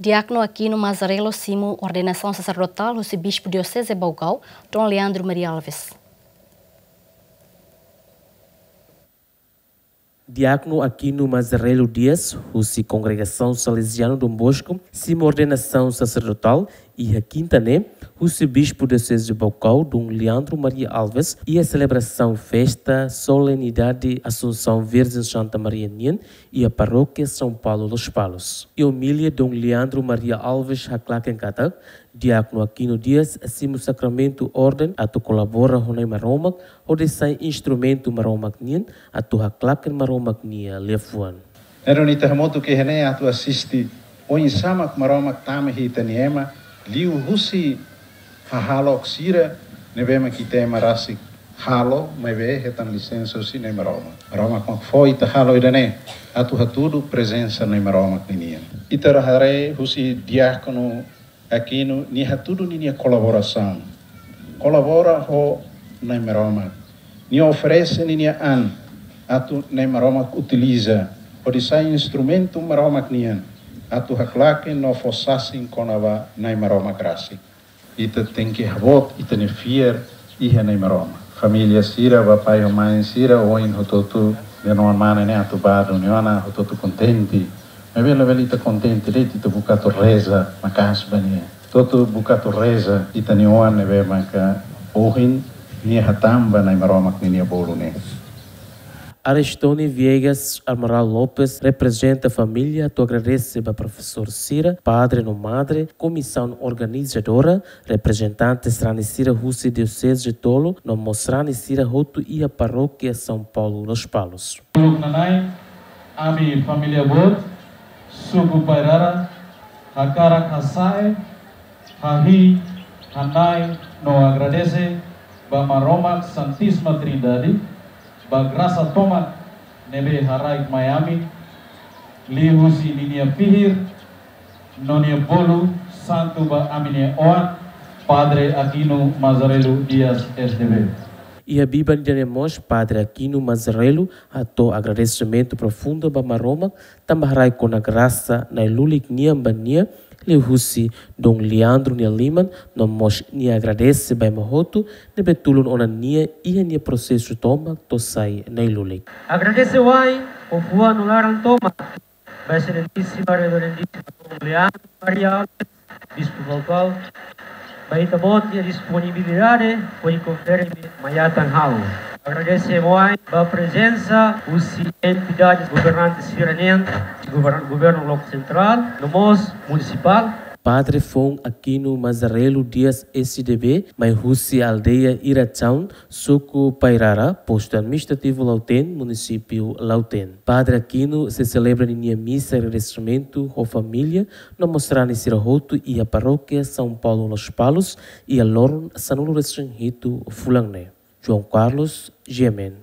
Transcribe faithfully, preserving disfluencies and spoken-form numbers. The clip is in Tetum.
Diákonu Aquino Mazzarello simu ordenasaun saserdotál husi Bispu Dioseze Baucau, Dom Leandro Maria Alves. Diákonu Aquino Mazzarello Dias, husi Kongregasaun Salesianu Dom Bosco, simu ordenasaun saserdotál iha kinta ne'e, husi Bispu Dioseze Baucau, Dom Leandro Maria Alves, iha selebrasaun festa Solenidade Assunção Virgem Santa Maria nian, iha Parókia São Paulo Lospalos. Iha omilia Dom Leandro Maria Alves haklaken katak, Diákonu Aquino Dias simu sakramentu orden atu kolabora ho Na'i Maromak, hodi sai instrumentu Maromak nian atu haklaken Maromak nia liafuan. Ne'e duni ita hamutuk iha ne'e atu asiste oinsá mak Maromak tama iha ita-nia ema, liuhusi hahalok sira ne'ebé mak ita ema rasik halo, maibé hetan lisensa husi Na'i Maromak. Maromak mak fó ita halo ida-ne'e, atu hatudu prezensa Na'i Maromak ninian. Ita haree husi diákonu Aquino, nia hatudu ninia kolaborasaun. Kolabora ho Na'i Maromak. Nia oferese ninia an atu Na'i Maromak utiliza, hodi sai instrumentu Maromak nian, atu haklaken no fó sasin kona-ba Na'i Maromak rasik. Ita tenke haboot ita-nia fiar iha Na'i Maromak. Família sira, ba pai ho mãe sira, ohin hotu-hotu, benoan mane ne'e atu bá duni ona, hotu-hotu kontente. Maibé labele ita kontente de'it, ita buka atu reza maka'as ba nia. Hotu-hotu buka atu reza ita-nia oan ne'ebé maka ohin nia hatán ba Na'i Maromak ninia bolu ne'e. Aristone Viegas Amaral Lopes reprezenta família atu agradese ba profesór sira, padre no madre, komisaun organizadora, reprezentante sarani sira husi dioseze tolu, no mós sarani sira hotu iha Parókia São Paulo Lospalos. Uluk nanain, ami família boot, suku Pairara, hakarak hasa'e, hahi'i, hana'i no agradese ba Maromak Santísima Trindade, ba grasa tomak ne'ebé haraik mai ami, liuhusi ninia fihir no nia bolu santu ba ami-nia oan, Padre Aquino Mazzarello Dias, S D B. Iha biban ida-ne'e mós, Padre Aquino Mazzarello hato'o agradesimentu profundu ba Maromak, tanba haraik ona grasa Na'i Lulik nian ba nia, liuhusi Dom Leandro nia liman, no mós nia agradese ba ema hotu ne'ebé tulun ona nia iha nia prosesu tomak to'o sai Na'i Lulik. Agradese wa'in ho fuan no laran tomak ba Exelentísima Reverendísima Dom Leandro Maria Alves, Bispu Baucau, ba ita-boot nia disponibilidade hodi konfere mai atan ha'u. Agradese wa'in ba prezensa husi entidades governantes sira-nian, gover-, governu lokál sentrál, no mós munisipál. Padre foun Aquino Mazzarello Dias, S D B, mai husi aldeia Irachaun, suku Pairara, postu administrativu Lautém, munisípiu Lautém. Padre Aquino sei selebra ninia misa agradesimentu ho família no mós sarani sira hotu iha Parókia São Paulo Lospalos, iha loron sanulu-resin-hitu fulan ne'e. João Carlos, G M N.